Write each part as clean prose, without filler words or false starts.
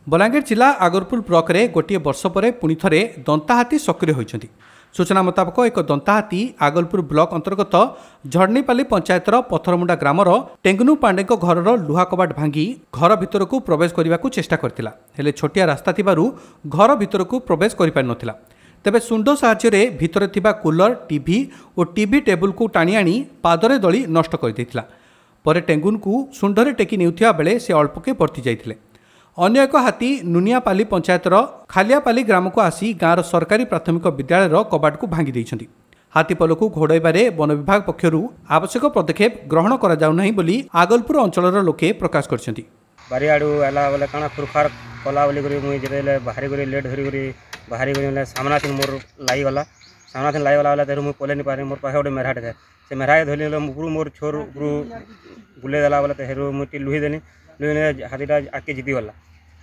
ବଲାଙ୍ଗୀର ଜିଲ୍ଲା ଆଗରପୁର ବ୍ଲକରେ ଗୋଟିଏ ବର୍ଷ ପରେ ପୁଣି ଥରେ ଦନ୍ତାହାତୀ ସକ୍ରିୟ ହୋଇଛନ୍ତି। ସୂଚନା ମୁତାବକ, ଏକ ଦନ୍ତାହାତୀ ଆଗଲପୁର ବ୍ଲକ ଅନ୍ତର୍ଗତ ଝଡ଼ନୀପାଲି ପଞ୍ଚାୟତର ପଥରମୁଣ୍ଡା ଗ୍ରାମର ଟେଙ୍ଗନୁ ପାଣ୍ଡେଙ୍କ ଘରର ଲୁହା କବାଟ ଭାଙ୍ଗି ଘର ଭିତରକୁ ପ୍ରବେଶ କରିବାକୁ ଚେଷ୍ଟା କରିଥିଲା। ହେଲେ ଛୋଟିଆ ରାସ୍ତା ଥିବାରୁ ଘର ଭିତରକୁ ପ୍ରବେଶ କରିପାରିନଥିଲା। ତେବେ ଶୁଣ୍ଡ ସାହାଯ୍ୟରେ ଭିତରେ ଥିବା କୁଲର, ଟିଭି ଓ ଟିଭି ଟେବୁଲକୁ ଟାଣି ଆଣି ପାଦରେ ଦଳି ନଷ୍ଟ କରିଦେଇଥିଲା। ପରେ ଟେଙ୍ଗୁନକୁ ଶୁଣ୍ଢରେ ଟେକି ନେଉଥିବା ବେଳେ ସେ ଅଳ୍ପକେ ବର୍ତ୍ତି ଯାଇଥିଲେ। ଅନ୍ୟ ଏକ ହାତୀ ନୁନିଆପାଲି ପଞ୍ଚାୟତର ଖାଲିଆପାଲି ଗ୍ରାମକୁ ଆସି ଗାଁର ସରକାରୀ ପ୍ରାଥମିକ ବିଦ୍ୟାଳୟର କବାଟକୁ ଭାଙ୍ଗି ଦେଇଛନ୍ତି। ହାତୀପଲକୁ ଘୋଡ଼ାଇବାରେ ବନ ବିଭାଗ ପକ୍ଷରୁ ଆବଶ୍ୟକ ପଦକ୍ଷେପ ଗ୍ରହଣ କରାଯାଉନାହିଁ ବୋଲି ଆଗଲପୁର ଅଞ୍ଚଳର ଲୋକେ ପ୍ରକାଶ କରିଛନ୍ତି। ବାରିଆଡ଼ୁ ଆଇଲା ବୋଲେ କାଣା ଖୁରଖାର କଲା ବୋଲିକରି ମୁଇଁ ଯେତେବେଲେ ବାହାରି କରି ଲେଟ୍ ଧରିକରି ବାହାରି କରି ବେଲେ ସାମ୍ନା ଥିନ୍ ମୋର୍ ଲାଗିଗଲା। ସାମ୍ନା ଥିନ୍ ଲାଗିଗଲା ବେଲେ ତେରୁ ମୁଇଁ ପଲେଇ ନି ପାରି। ମୋର୍ ପାଖେ ଗୋଟେ ମେଢ଼ାଟେ ଥାଏ, ସେ ମେଢ଼ାକେ ଧରିଲି ବେଲେ ଉପରୁ ମୋର୍ ଛୋର୍ ଉପରୁ ବୁଲେଇ ଦେଲା ବେଲେ ତେହେରୁ ମୁଇଁ ଟିକେ ଲୁହି ଦେନି। ଲୁହି ଦେଲେ ହାତୀଟା ଆଗ୍କେ ଜିତିଗଲା।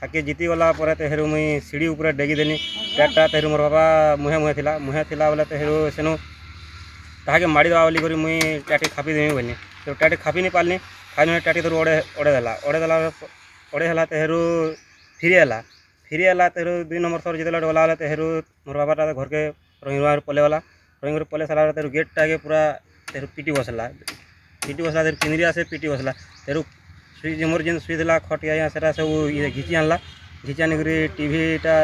ଆଗ୍କେ ଜିତିଗଲା ପରେ ତେହେରୁ ମୁଇଁ ସିଡ଼ି ଉପରେ ଡେଗି ଦେନି ଟ୍ୟାକ୍ଟା। ତେହେରୁ ମୋର୍ ବାପା ମୁହେଁ ମୁହେଁ ଥିଲା, ମୁହେଁ ଥିଲା ବେଲେ ତେହେରୁ ସେନୁ ତାହାକେ ମାଡ଼ିଦେବା ବୋଲିକରି ମୁଇଁ ଟ୍ୟାଟି ଖାପି ଦେମି ବୋଇଲି। ତ ଟ୍ୟାଟି ଖାପି ନି ପାରଲି। ଖାଇନି ଟ୍ୟାଟି ତେରୁ ଅଡ଼େ ଅଡ଼େଇ ଦେଲା, ଅଡ଼େଇ ଦେଲା, ଅଡ଼େଇ ହେଲା। ତେହେରୁ ଫିରି ହେଲା, ଫିରି ହେଲା। ତେହେରୁ 2 ନମ୍ବର ଥର ଯେତେବେଲେ ଗଲା ବେଲେ ତେହେରୁ ମୋର୍ ବାବାଟା ଘରକେ ରହି ରୁହା ପଲେଇ ଗଲା। ରହି କରି ପଲେଇ ସାରିଲା ପରେ ତେହେରୁ ଗେଟ୍ଟାକେ ପୁରା ତେହେରୁ ପିଟି ବସଲା, ପିଟି ବସଲା। ତେହେରୁ କିନ୍ଦିରି ଆସେ ପିଟି ବସଲା। ତେହେରୁ ସୁଇ ମୋର୍ ଯେନ୍ ଶୁଇଥିଲା ଖଟି ଆଜ୍ଞା, ସେଟା ସବୁ ଇଏ ଘିଚି ଆଣିଲା। ଘିଚି ଆଣିକରି ଟିଭିଟା,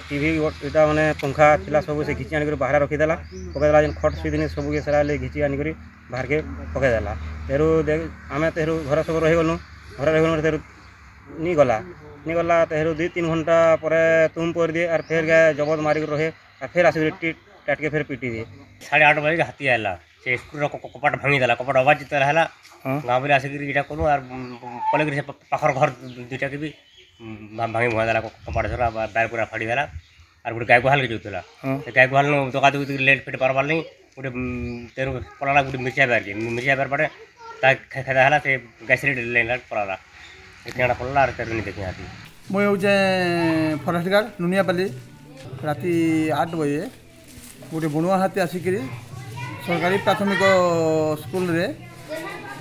ଟିଭି ଇଟା ମାନେ ପଙ୍ଖା ଥିଲା, ସବୁ ସେ ଘିଚି ଆଣିକରି ବାହାରେ ରଖିଦେଲା, ପକେଇଦେଲା। ଯେନ୍ ଖଟ୍ ଶୁଇଥିଲି ସବୁକେ ସେଟା ଘିଚି ଆଣିକରି ବାହାରକେ ପକେଇଦେଲା। ତେହେରୁ ଆମେ ତେହେରୁ ଘରେ ସବୁ ରହିଗଲୁ। ଘରେ ରହିଗଲୁ, ତେହେରୁ ନି ଗଲା, ନି ଗଲା। ତେହେରୁ 2-3 ଘଣ୍ଟା ପରେ ତୁମ୍ କରିଦିଏ ଆର୍ ଫେର୍ ଗାଏ ଜବତ ମାରିକି ରହେ ଆର୍ ଫେର୍ ଆସିକରି ଟାଟକେ ଫେର୍ ପିଟି ଦିଏ। 8:30 ବଜେ ହାତୀ ଆଇଲା, ସେ ସ୍କୁଲର କପାଟ ଭାଙ୍ଗିଦେଲା। କପାଟ ଆବାଜ ଯେତେବେଳେ ହେଲା, ଗାଁ ବୋଲି ଆସିକିରି ଏଇଟା କଲୁ ଆର୍ ପଳେଇକିରି ସେ ପାଖର ଘର ଦୁଇଟାକେ ବି ଭାଙ୍ଗି ଭୁଙ୍ଗା ଦେଲା। କପାଟ ଝରା ବାର୍ ପୁରା ଫାଡ଼ିଦେଲା। ଆର୍ ଗୋଟେ ଗାଈ ଗୁହାଲକେ ଯାଉଥିଲା, ସେ ଗାଈ ଗୁହାଲ ଦକା ଦୁକି ଲେଟ୍ ଫେଟ୍ ପାରବାର୍ ନାଇଁ। ଗୋଟେ ତେଣୁ ପଳାଲା ଗୋଟେ ମିର୍ଚା ବାର୍କେ, ମିର୍ଚା ବାର୍ ପଟେ ତା ଖେଦା ହେଲା, ସେ ଗାଈ ଲାଇନ୍ ପଳାଲା, ସେ ପଳାଲା। ଆର୍ ତେରୁ ଦେଖି ହାତୀ। ମୁଇଁ ହେଉଛେ ଫରେଷ୍ଟ ଗାର୍ଡ଼ ନୁନିଆପାଲି। ରାତି 8 ବଜେ ଗୋଟେ ବଣୁଆ ହାତୀ ଆସିକିରି ସରକାରୀ ପ୍ରାଥମିକ ସ୍କୁଲରେ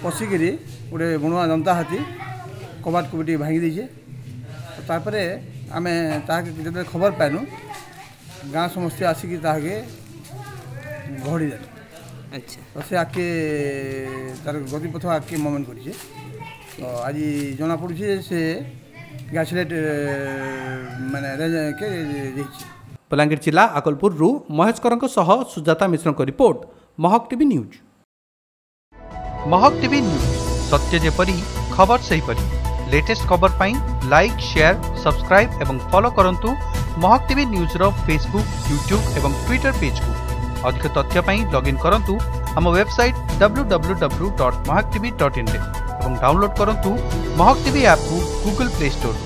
ପଶିକିରି ଗୋଟେ ବଣୁଆ ଦନ୍ତା ହାତୀ କବାଟ କୁବିଟି ଭାଙ୍ଗି ଦେଇଛେ। ତାପରେ ଆମେ ତାହାକେ ଯେତେବେଳେ ଖବର ପାଇନୁ, ଗାଁ ସମସ୍ତେ ଆସିକି ତାହାକେ ଘୋଡ଼ି ଦେଲୁ। ଆଚ୍ଛା, ତ ସେ ଆଗକେ ତାର ଗତିପଥ ଆଗକେ ମୁଭମେଣ୍ଟ କରିଛେ। ତ ଆଜି ଜଣାପଡ଼ୁଛି ଯେ ସେ ଗ୍ୟାସଲେଟ୍ ମାନେ ରେଞ୍ଜକେ ଦେଇଛି। ବଲାଙ୍ଗୀର ଜିଲ୍ଲା ଆକଲପୁରରୁ ମହେଶ କରଙ୍କ ସହ ସୁଜାତା ମିଶ୍ରଙ୍କ report, Mahak TV news. Mahak TV news, ସତ୍ୟ ଯେପରି ଖବର ସେହିପରି। ଲେଟେଷ୍ଟ ଖବର ପାଇଁ ଲାଇକ୍, ସେୟାର, ସବସ୍କ୍ରାଇବ୍ ଏବଂ ଫଲୋ କରନ୍ତୁ ମହକ ଟିଭି ନ୍ୟୁଜ୍ର ଫେସବୁକ୍, ୟୁଟ୍ୟୁବ୍ ଏବଂ ଟ୍ୱିଟର ପେଜ୍କୁ। ଅଧିକ ତଥ୍ୟ ପାଇଁ ଲଗ୍ଇନ୍ କରନ୍ତୁ ଆମ ୱେବସାଇଟ୍ www.mahakatv.inରେ ଏବଂ ଡାଉନଲୋଡ୍ କରନ୍ତୁ ମହକ ଟିଭି ଆପ୍କୁ ଗୁଗଲ ପ୍ଲେ ଷ୍ଟୋରରୁ।